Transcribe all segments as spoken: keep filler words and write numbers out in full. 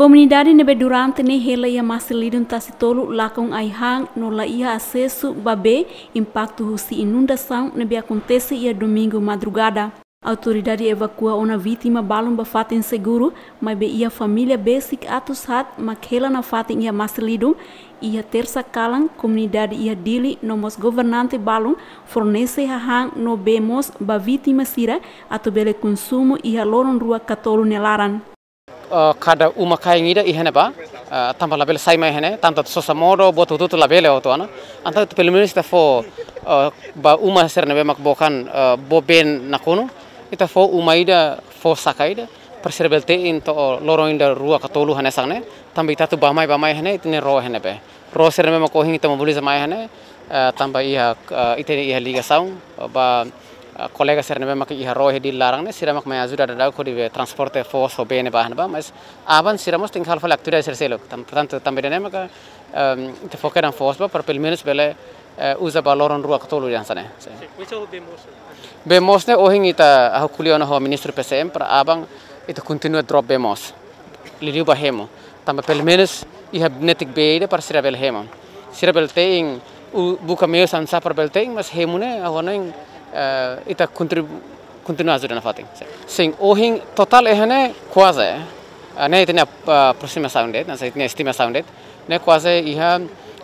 Komunidade ne'ebé durante ne'e hela iha masin-lidun Tasi Tolu lakon ai-han no la iha asesu ba bee, impaktu husi inundasaun ne'ebé akontese iha domingu madrugada. Autoridade evakua ona vítima balun ba fatin seguru, maibé iha família besik atus haat mak hela nafatin iha masin-lidun. Iha tersa kalan, komunidade iha Dili no mós governante balun fornese hahán no bee mós ba vítima sira atu bele konsumu iha loron rua ka tolu nia laran. Eh, kada uma-kain ida iha ne'ebá, eh, tanba labele sai mai iha ne'e, tantu sosa modo, buat hotu-hotu labele hotu ona. Entaun pelumenus ita fó, eh, ba uma sira ne'ebé mak bokan, eh, bee nakonu, ita fó uma ida, fó saka ida, para sira bele te'in to'o loron ida rua ka tolu hanesan ne'e, tanba ita atu bá mai, bá mai iha ne'e, ita-nia ró iha ne'ebé. Ró sira ne'ebé mak ohin ita mobiliza mai iha ne'e, eh, tanba iha, eh, ita iha ligasaun ba, eh, kolega sira ne'ebé mak iha ró iha Dili laran ne'e, sira mak mai ajuda daudaun hodi be transporte foos ho bee ne'ebá ne'ebá, mas aban sira mós tenke halo fali atividade sira seluk. Tan-, portantu, tanba ida-ne'e maka, ehm, ita fó kedan foos ba, para pelumenus bele, eh, uza ba loron rua ka tolu hanesan ne'e. Sin. Sin, oinsá ho bee moos? Bee moos ne'e ohin ita hahú ko'alia ona ho Ministru P C M para aban ita kontinua drop bee moos. Liuliu ba hemu. Tanba pelumenus iha netik bee ida para sira bele hemu. Sira bele te'in, u-, buka meius oinsá para bele te'in, mas hemu ne'e, agora ne'e, eh, ita kontribu-, kontinua ajuda nafatin. Sin, ohin totál iha ne'e kuaze, eh, ne'e ita-nia, eh, aproximasaun de'it, hanesan ita-nia estimasaun de'it, ne'e kuaze iha,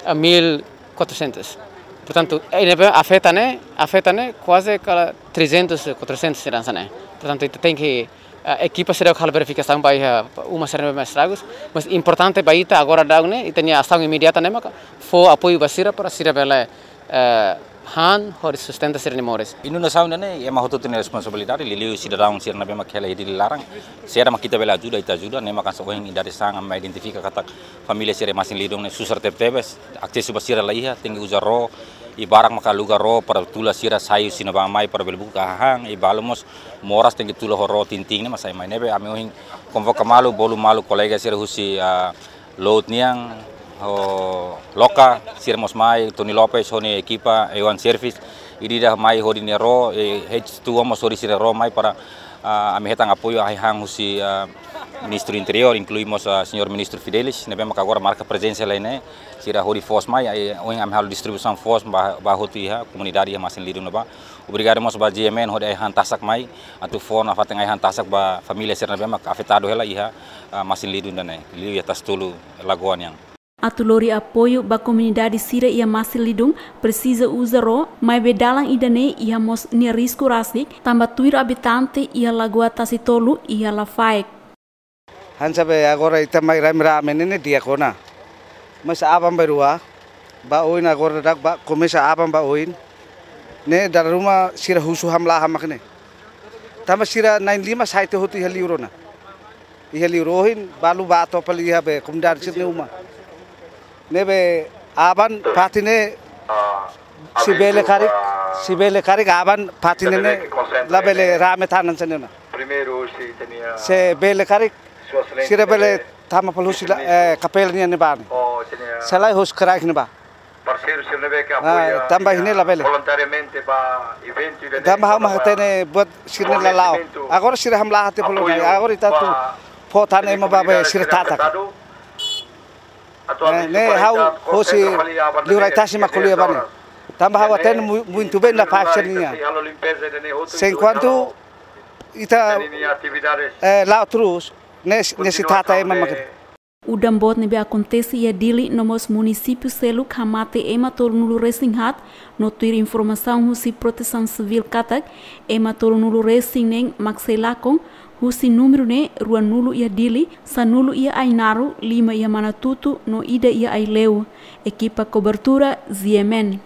eh, mil quatrocentos. Portantu, eh, ne'ebé afeta ne'e, afeta ne'e kuaze kala trezentos, quatrocentos sira hanesan ne'e. Portantu, ita tenke, eh, ekipa sira halo verifikasaun ba iha uma sira ne'ebé estragus, mas importante ba ita agora daudaun ne'e, ita-nia asaun imediata ne'e maka fó apoiu ba sira para sira bele, eh, han hodi sustenta sira-nia moris. Inundasaun ida-ne'e ema hotu-hotu nia responsabilidade, liuliu sidadaun sira ne'ebé mak hela iha Dili laran. Saida mak ita bele ajuda, ita ajuda, ne'e maka hanesan ohin idade san ami identifika katak família sira masin-lidun ne'e susar tebetebes, asesu ba sira la iha, tenke uza ró, i barak maka aluga ró para tula sira sai husi ne'ebá mai para bele buka hahán, i balu mós moras tenke tula ho ró tintin ne'e mak sai mai. Ne'ebé ami ohin konvoka malu, bolu malu kolega sira husi, ah, Load nian, ho Loka, sira mós mai, Tony Lopes, ho nia ekipa, Ewan Service, ida-idak mai hodi nia ró, eh, H two mós hodi sira ró mai para, ah, ami hetan apoiu ai-han husi, ah, Ministru Interiór, inklui mós, ah, Señór Ministru Fidelis, ne'ebé maka agora marka prezensa iha ne'e, sira hodi foos mai, ai, ohin ami halo distribuisaun foos ba, ba hotu iha, komunidade iha masin-lidun ne'ebá. Obrigadu mós ba G M N hodi ai-han tasak mai, atu fó nafatin ai-han tasak ba família sira ne'ebé mak afetadu hela iha, ah, masin-lidun ida-ne'e, liuliu iha Tasi Tolu lagoa nian. Atu lori apoiu ba komunidade sira iha masin-lidun presiza uza ró, maibé dalan ida-ne'e iha mós nia risku rasik, tanba tuir abitante iha lagoa Tasi Tolu iha Lafaek. Hanesan be agora ita mai rame-rame ne'e, ne'e di'ak ona. Mas aban-bainrua, ba oin agora dak ba, komesa aban ba oin. Ne'e dala ruma sira husu hamlaha mak ne'e. Tanba sira na'in-lima sai tiha hotu iha liur ona. Iha liur ohin, balu bá to'o fali iha be komunidade sira-nia uma. Ne'ebé aban fatin ne'e, se bele karik, se bele karik aban fatin ne'e labele rame tan hanesan ne'e ona. Se bele karik, sira bele tama fali husi la, eh, kapela nian ne'ebá ne'e. Se lae husi kraik ne'ebá. Ah, tanba iha ne'e labele. Tanba ha'u mak hatene buat sira-ne'e la la'o. Agora sira hamlaha tiha fali ona. Agora ita atu fó tan ema ba be sira tatak. Eh, ne'e ha'u hosi liurai tasi mak ko'alia ba ne'e. Tanba ha'u hatene mu-, muito bem na parte nian. Se enkuantu ita, eh, la'o terus, ne'e, ne'e sei tata ema mak ne'e. Udan boot ne'ebé akontese iha Dili no mós munisípiu seluk hamate ema tolunulu-resin-haat, no tuir informasaun husi Protesaun Sivíl katak, ema tolunulu-resin-neen mak sei lakon, husi númeru ne'e ruanulu iha Dili, sanulu iha Ainaro, lima iha Manatutu, no ida iha Aileu. Ekipa kobertura G M N.